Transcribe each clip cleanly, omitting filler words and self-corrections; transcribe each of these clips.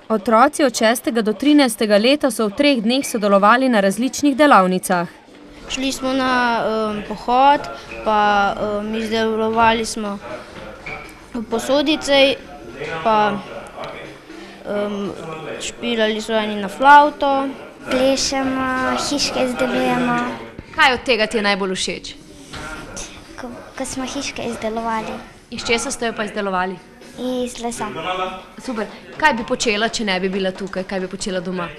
Otroci od 6. do 13. leta so v 3 dneh sodelovali na različnih delavnicah. Šli smo na pohod, pa izdelovali smo posodice, pa špilali so eni na flavto. Plešemo, hiške izdelujemo. Kaj od tega ti je najbolj všeč? Ko smo hiške izdelovali. Iz česa ste jo pa izdelovali? Iz lesa. Super. Kaj bi počela, če ne bi bila tukaj? Kaj bi počela doma?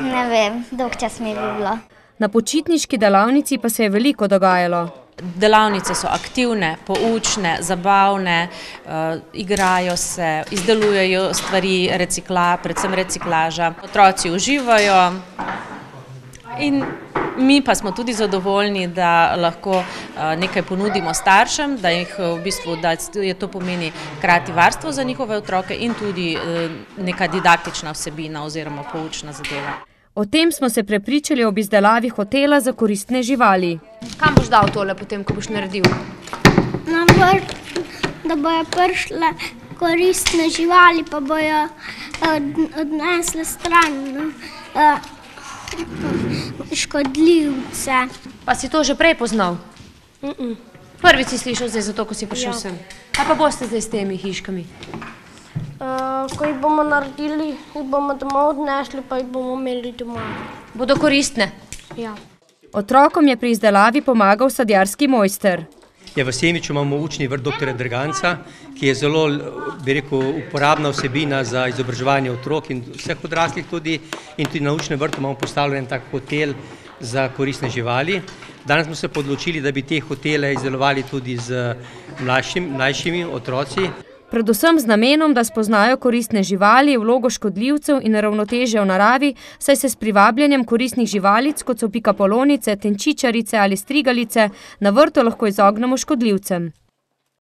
Ne vem, dolg čas mi bi bilo. Na počitniški delavnici pa se je veliko dogajalo. Delavnice so aktivne, poučne, zabavne, igrajo se, izdelujejo stvari, predvsem reciklaža. Otroci uživajo in mi pa smo tudi zadovoljni, da lahko nekaj ponudimo staršem, da je to pomeni hkrati varstvo za njihove otroke in tudi neka didaktična vsebina oziroma poučna zadeva. O tem smo se prepričali ob izdelavi hotela za koristne živali. Kam boš dal tole potem, ko boš naredil? Na vrt, da bojo prišle koristne živali, pa bojo odnesle stran škodljivce. Pa si to že prej poznal? Prvič si slišal zdaj zato, ko si prišel sem. Kaj pa boste zdaj s temi hiškami? Ko jih bomo naredili, jih bomo domov odnesli, pa jih bomo imeli doma. Bodo koristne? Ja. Otrokom je pri izdelavi pomagal sadjarski mojster. V Semiču imamo učni vrt dr. Drganca, ki je zelo, bi rekel, uporabna vsebina za izobraževanje otrok in vseh odraslih tudi. In tudi na učnem vrtu imamo postavljen tak hotel za koristne živali. Danes smo se odločili, da bi te hotele izdelovali tudi z mlajšimi otroci. Predvsem z namenom, da spoznajo koristne živali, vlogo škodljivcev in ravnotežje v naravi, saj se s privabljanjem koristnih živalic, kot so pikapolonice, tenčičarice ali strigalice, na vrtu lahko izognemo škodljivcem.